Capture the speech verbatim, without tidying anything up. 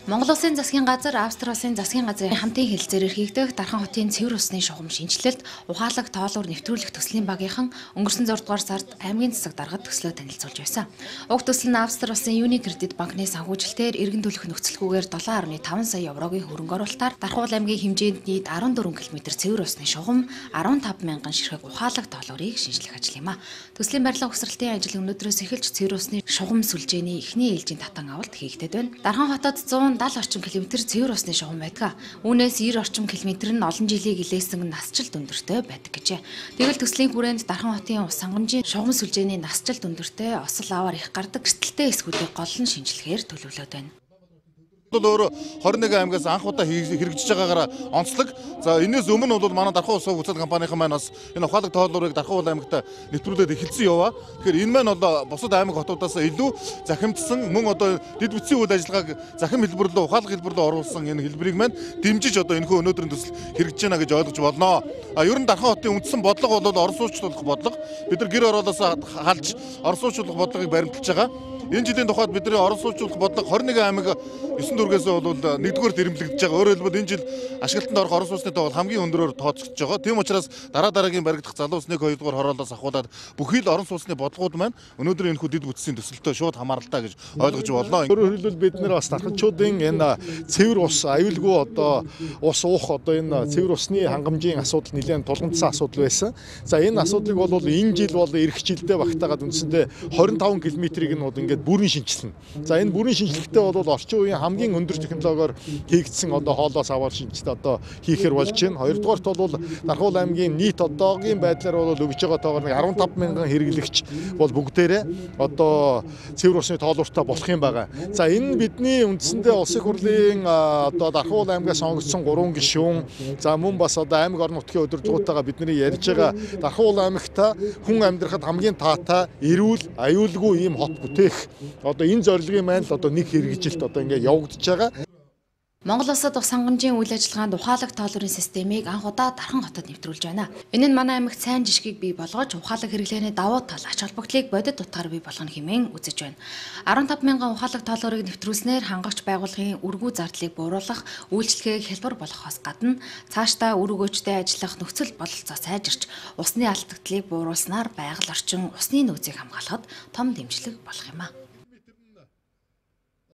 Монгол Улсын засгийн газар, Австри улсын засгийн газрын хамтын хэлэлцээр эрхийгдэх Дархан хотын цэвэр усны шугам шинжилэлт ухаалаг тоолуур нэвтрүүлэх төслийн багийнхан өнгөрсөн зургаадугаар сард аймгийн засаг даргад төслөө танилцуулж байсан. Уг төсөл нь Австри улсын Unicredit банкны санхүүжилтээр иргэн төлөх нөхцөлгүйгээр долоон гаруй таван сая еврогийн хөрөнгө оруулалтаар Дархан аймгийн хэмжээнд нийт арван дөрвөн километр цэвэр усны шугам арван таван мянган ширхэг ухаалаг тоолуурыг шинжлэх ажил юм а. Төслийн барилга угсралтын ажил өнөөдрөөс эхэлж цэвэр усны шугам сүлжээний эхний ээлжийн татан авалт хийгдэд байна. Дархан хотод зуун дал орчим километр цэвэр усны шугам байдаг. Үүнээс девяносто орчим километр нь олон жилийн илээсэн насжилт өндөртэй байдаг гэжээ. Тэгвэл төслийн хүрээнд Дархан хотын ус сангамжийн шугам сүлжээний насжилт өндөртэй осол аваар их гардаг эрсдэлтэй эсгүүдийг гол нь шинжилгээр төлөвлөд байна. Өөр хорин нэг аймгаас анх удаа хэрэгжиж байгаагаар онцлог. За энэс өмнө бол манай Дархан улс уцаад компанийн маань бас энэ ухаалаг тоолуурыг Дархан аймагт нэвтрүүлээд эхэлсэн яваа. Тэгэхээр энэ маань бол бусад аймаг хотуудаас илүү захимдсан мөн одоо дэд бүтцийн үйл ажиллагааг захим хэлбэрлөө ухаалаг хэлбэрлөө оруулсан энэ хэлбэрийг маань дэмжиж одоо энэхүү өнөөдрийн төсөл хэрэгжиж байна гэж ойлгож болно. А ер нь Дархан хотын үндсэн бодлого бол орон суучлуулах бодлого. Бид нар гэр ороолоос халж орон суучлуулах бодлогыг баримталж байгаа. Энэ жилийн тухайд бидний орон суучлуулах бодлого хорин нэг аймаг есөн дүүргээс бол нэгдүгээр дэрэмлэгдэж байгаа. Өөрөөр хэлбэл энэ жил ашиглалтанд орох орон сууцны тоо хамгийн өндөрөөр тооцогдож байгаа. Тийм учраас дараа дараагийн баригдах залуу усны нэг хоёрдугаар хороолоос ахуулаад бүхий л орон сууцны бодлогууд маань өнөөдөр энэ хүү дэд бүтцийн төсөлтөд шууд хамааралтай гэж ойлгож болно. Өөрөөр хэлбэл бид нэр бас дарханчуудын энэ цэвэр ус аюулгүй одоо ус уух одоо энэ цэвэр усны хангамжийн асуудал нэлээд тулгамдсан асуудал байсан. За энэ асуудлыг бол энэ жил бол эх жилдээ багтаагаад үндсэндээ двадцать пять километрийг нь бол ингээд бүрэн шинжилнэ. За энэ бүрэн шинжилгээтэй бол орчин үеийн хамгийн өндөр технологиор хийгдсэн одоо хоолоос аваар шинжилт одоо хийхээр болж байна. Хоёрдугаарт бол Дархан аймгийн нийт одоогийн байдлаар бол өгж байгаа тоогоор арван таван мянган хэрэглэгч бол бүгдээрээ одоо цэвэр усны тоолууртай болох юм байна. За энэ бидний үндсэндээ улсын хурлын одоо Дархан аймгаас сонгогдсон гурван гишүүн за мөн бас одоо аймаг орон нутгийн удирдлагуудтайгаа бидний ярьж байгаа Дархан аймагт хүн амьдрахад хамгийн таатай, эрүүл, аюулгүй ийм хот бүтээх одоо энэ зорилгын маань л одоо нэг хэрэгжилт одоо ингээд явагдаж байгаа. Монгол улсад ус сангамжийн үйл ажиллагаанд ухаалаг тоолуурын системийг анх удаа Дархан хотод нэвтрүүлж байна. Энэ нь манай аймагт сайн жишгийг бий болгож ухаалаг хэрэглээний давуу тал ач холбогдлыг бодит утгаар бий болгоно хэмээн үзэж байна. арван таван мянган ухаалаг тоолуурыг нэвтрүүлснээр хангагч байгууллагын үргүү зардлыг бууруулах, үйлчлэгийг хялбар болгохоос гадна цаашдаа үр өгөөжтэй ажиллах нөхцөл бололцоо сайжирч усны алдагдлыг бууруулснаар байгаль орчин усны нөөцийг хамгаалахад том дэмжлэг болох юм а.